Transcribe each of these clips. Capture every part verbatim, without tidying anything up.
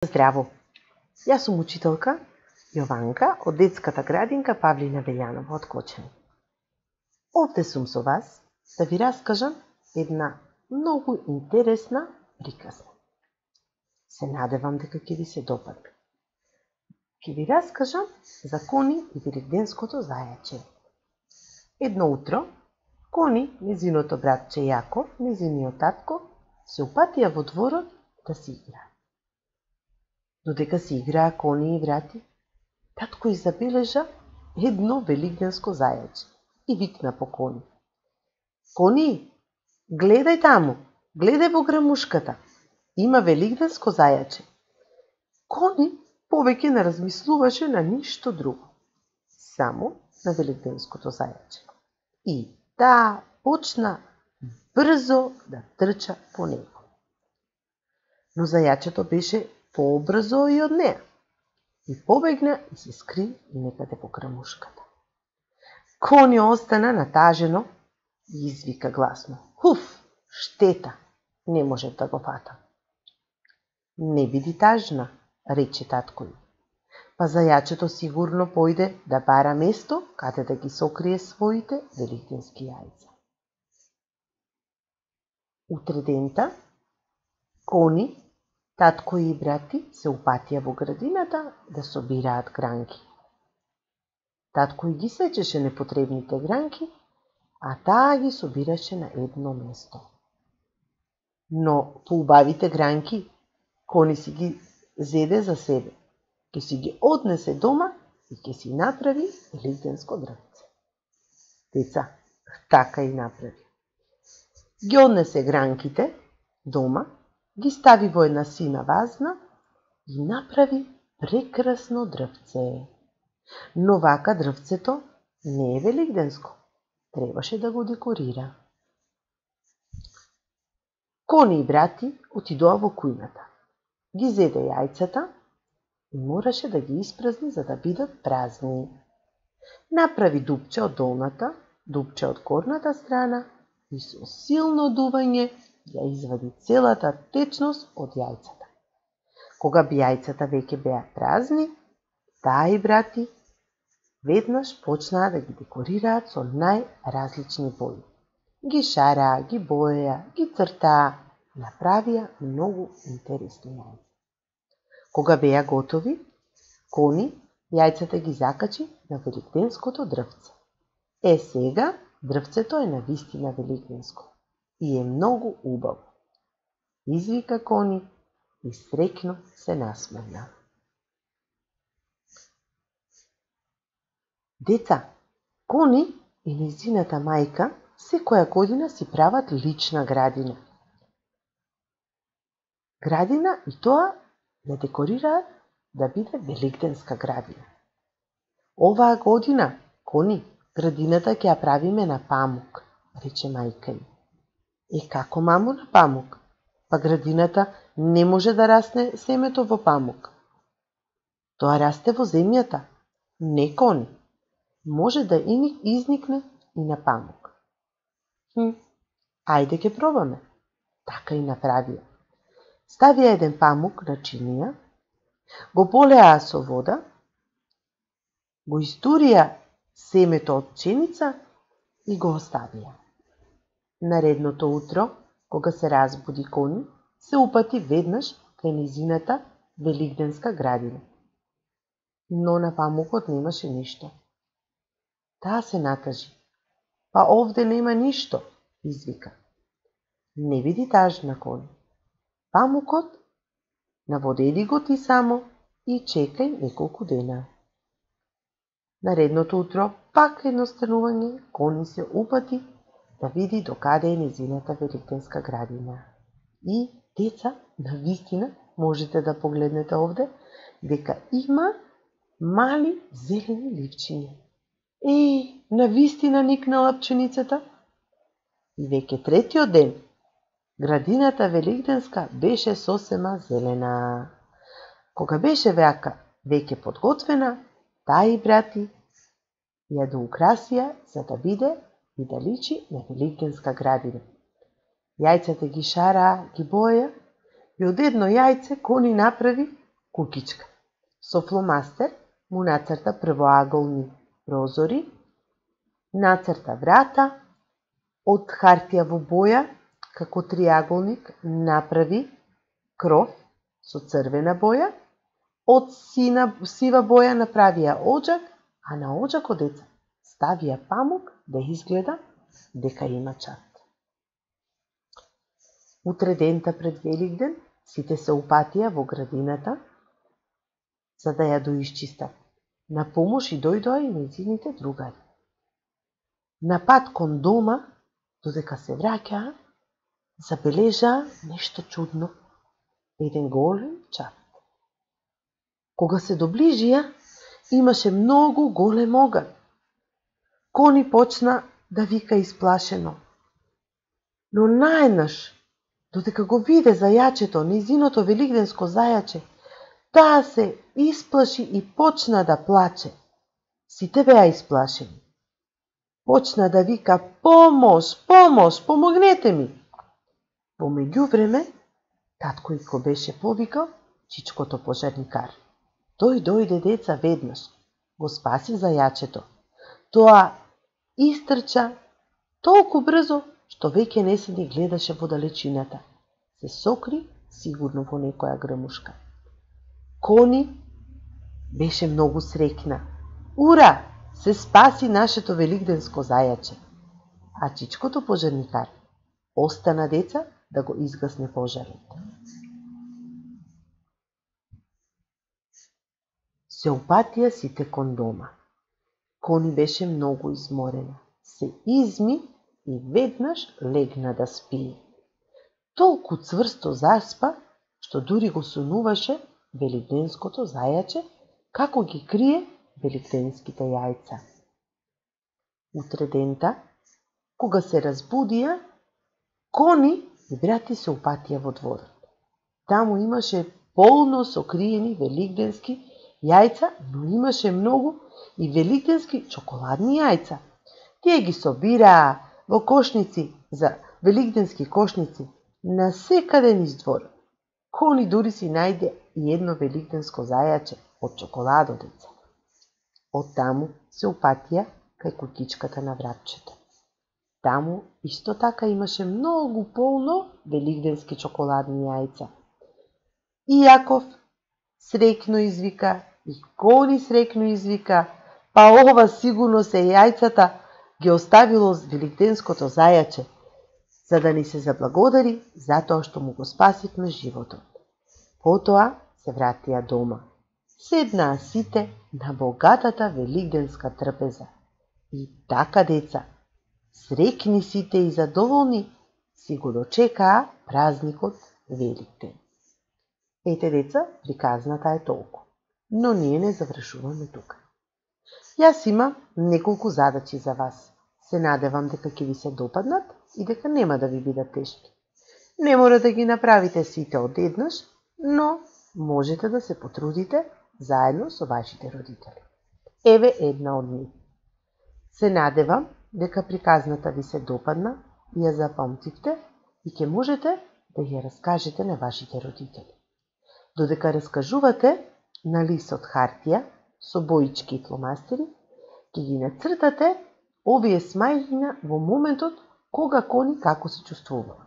Здраво! Јас сум учителка Јованка од детската градинка Павлина Велјанова од Кочани. Овде сум со вас да ви раскажам една многу интересна приказна. Се надевам дека ќе ви се допадне. Ќе ви раскажам за Кони и великденското зајаче. Едно утро, Кони, незиното братче Јако, незиниот татко, се упатија во дворот да си играат. Додека си играа Кони и врати, татко и забележа едно великденско зајаче и викна по Кони. Кони, гледај таму, гледај во грамушката, има великденско зајаче. Кони повеќе не размислуваше на ништо друго, само на великденското зајаче. И таа почна брзо да трча по него. Но зајачето беше пообрзо и од неа и побегна и се скри некаде во грамушката. Кони остана натажено и извика гласно. Хуф, штета, не можев да го фатам. Не биди тажна, рече татко ѝ. Па зајачето сигурно појде да бара место каде да ги сокрие своите великденски јајца. Утре дента, Кони, татко и брати се упатија во градината да собираат гранки. Татко и ги сечеше непотребните гранки, а таа ги собираше на едно место. Но поубавите гранки Кони си ги зеде за себе, ќе си ги однесе дома и ќе си направи великденско дрвце. Деца, така и направи. Ги однесе гранките дома, ги стави во една сина вазна и направи прекрасно дрвце. Но вака дрвцето не е великденско, требаше да го декорира. Кони и брати отидоа во кујната, ги зеде јајцата и мораше да ги испразни за да бидат празни. Направи дупче од долната, дупче од горната страна и со силно дување ја извади целата течност од јајцата. Кога би јајцата веќе беа празни, таа и брати веднаш почнаа да ги декорираат со најразлични бои. Ги шараа, ги боеа, ги цртаа, направија многу интересни јајца. Кога беа готови, Кони јајцата ги закачи на великденското дрвце. Е сега дрвцето е навистина великденско и е многу убаво, извика Кони и среќно се насмевна. Деца, Кони и нејзината мајка секоја година си прават лична градина. Градина и тоа ја декорираат да биде великденска градина. Оваа година, Кони, градината ќе ја правиме на памук, рече мајка ѝ. Е, како, мамо, на памук? Па градината не може да расне семето во памук. Тоа расте во земјата. Не, Кони. Може да изникне и на памук. Хм, ајде ќе пробаме. Така и направија. Ставија еден памук на чинија, го полеа со вода, го истурија семето од пченица и го оставија. Наредното утро, кога се разбуди Кони, се упати веднаш кај нејзината великденска градина. Но на памукот немаше ништо. Таа се натажи. Па овде нема ништо, извика. Не биди тажна, Кони. Памукот наводеди го ти само и чекај неколку дена. Наредното утро, пак едностанување, Кони се упати да види докаде е нејзината великденска градина. И, деца, навистина, можете да погледнете овде, дека има мали зелени ливчиња. Еј, навистина никнала пченицата. И веќе третиот ден, градината великденска беше сосема зелена. Кога беше вака веќе подготвена, таа и брати ја доукрасија за да биде и да личи на великденска градина. Јајцата ги шараа, ги боеа и од едно јајце Кони направи кукичка. Со фломастер му нацрта првоаголни прозори, нацрта врата, од хартија во боја, како триаголник, направи кров со црвена боја, од сина, сива боја направија оџак, а на оџакот деца ставија памук да изгледа дека има чат. Утре дента пред Великден сите се упатија во градината за да ја доисчистат. На помош и дојдоа и нејзините другари. На пат кон дома, додека се враќаа, забележаа нешто чудно. Еден голем чат. Кога се доближија, имаше многу голем оган. Кони почна да вика исплашено. Но наеднаш, додека го виде зајачето, нејзиното великденско зајаче, таа се исплаши и почна да плаче. Сите беа исплашени. Почна да вика: помош, помош, помогнете ми. Во меѓувреме, татко Ико беше повикал чичкото пожарникар. Тој дојде деца веднаш, го спаси зајачето. Тоа истрча толку брзо, што веќе не се ни гледаше во далечината. Се сокри сигурно во некоја грмушка. Кони беше многу среќна. Ура! Се спаси нашето великденско зајаче. А чичкото пожарникар остана деца да го изгасне пожарот. Се упатија сите кон дома. Кони беше многу изморена. Се изми и веднаш легна да спие. Толку цврсто заспа, што дури го сонуваше великденското зајаче, како ги крие великденските јајца. Утре дента, кога се разбудија, Кони и брати се упатија во дворот. Таму имаше полно сокриени великденски јајца, но имаше многу и великденски чоколадни јајца. Тие ги собираа во кошници за великденски кошници на секаде низ дворот. Кони дури си најде и едно великденско зајаче од чоколадо деца. Од таму се упатија кај куќичката на вратчето. Таму исто така имаше многу полно великденски чоколадни јајца. И Јаков среќно извика, и Кони среќно извика, па ова сигурно се јајцата ги оставило великденското зајаче, за да ни се заблагодари затоа што му го спасивме животот. Потоа се вратија дома. Седнаа сите на богатата великденска трпеза. И така деца, среќни сите и задоволни, си го дочекаа празникот Великден. Ете деца, приказната е толку, но ние не завршуваме тука. Јас имам неколку задачи за вас. Се надевам дека ќе ви се допаднат и дека нема да ви бидат тешки. Не мора да ги направите сите одеднаш, но можете да се потрудите заедно со вашите родители. Еве една од нив. Се надевам дека приказната ви се допадна и ја запамтивте и ќе можете да ја раскажете на вашите родители. Додека раскажувате на лист од хартија со боички и фломастери, ќе ги нацртате овие смајлина во моментот кога Кони како се чувствувала.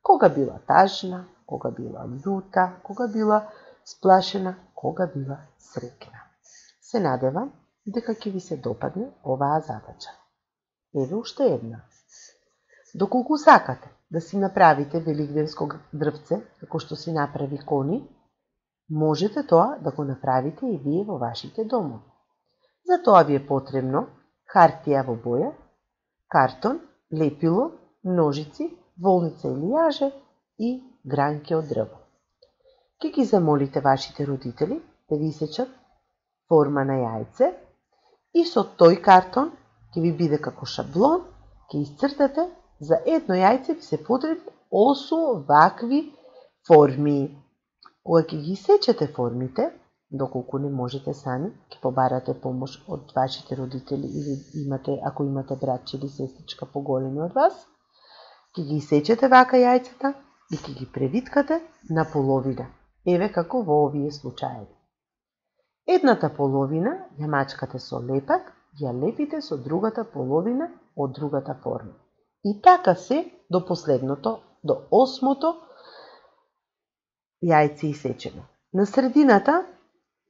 Кога била тажна, кога била љута, кога била сплашена, кога била среќна. Се надевам дека ќе ви се допадне оваа задача. Еве уште една. Доколку сакате да си направите великденско дрвце, како што си направи Кони, можете тоа да го направите и вие во вашите домови. За тоа ви е потребно хартија во боја, картон, лепило, ножици, волница или јаже и гранки од дрво. Ке ги замолите вашите родители да ви исечат форма на јајце и со тој картон ќе ви биде како шаблон, ќе исцртате за едно јајце ви се потребни осум вакви форми. Кога ќе ги исечете формите, доколку не можете сами, ќе побарате помош од вашите родители или имате, ако имате братче или сестричка поголеми од вас, ќе ги исечете вака јајцата и ќе ги превиткате на половина. еве како во овие случаеви. Едната половина ја мачкате со лепак, ја лепите со другата половина од другата форма. И така се до последното, до осмото јајце исечено. На средината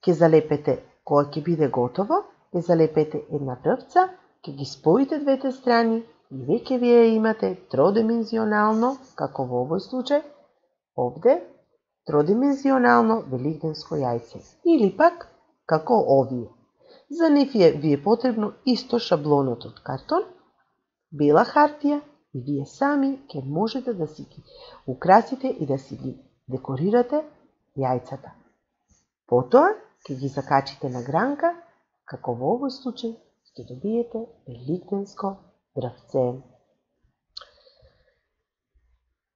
ќе залепете, кога ќе биде готово, ќе залепете една првца, ќе ги споите двете страни и веќе вие имате тродимензионално, како во овој случај, овде, тродимензионално великденско јајце. Или пак, како овие. За нив е ви е потребно исто шаблонот од картон, бела хартија и вие сами ќе можете да си ги украсите и да си ги декорирате јајцата. Потоа ќе ги закачите на гранка, како во овој случај ќе добиете великденско дрвце.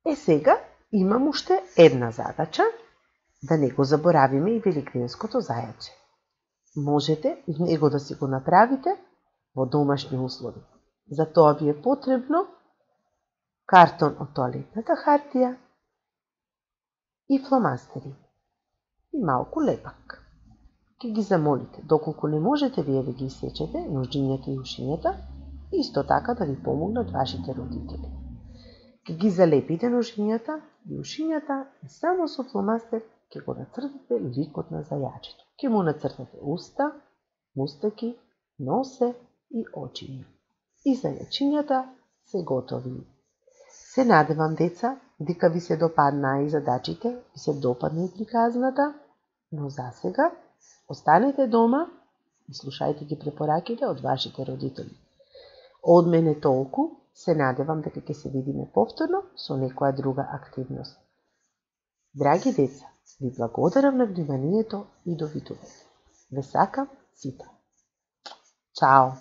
Е сега имам уште една задача, да не го заборавиме и великденското зајаче. Можете и него да си го направите во домашни услови. За тоа ви е потребно картон од тоалетната хартија и фломастери и малку лепак. Ке ги замолите, доколку не можете вие да ги исечете ножињата и ушињата, исто така да ви помогнат вашите родители. Ке ги залепите ножињата и ушињата и само со фломастер ке го нацртате ликот на зајачето. Ке му нацртате уста, мустаки, носе и очиња. И зајачињата се готови. Се надевам, деца, дека ви се допаднаа и задачите, ви се допадна и приказната, но за сега останете дома и слушајте ги препораките од вашите родители. Од мене толку, се надевам дека ќе се видиме повторно со некоја друга активност. Драги деца, ви благодарам на вниманието и довидување. Ве сакам сите. Чао!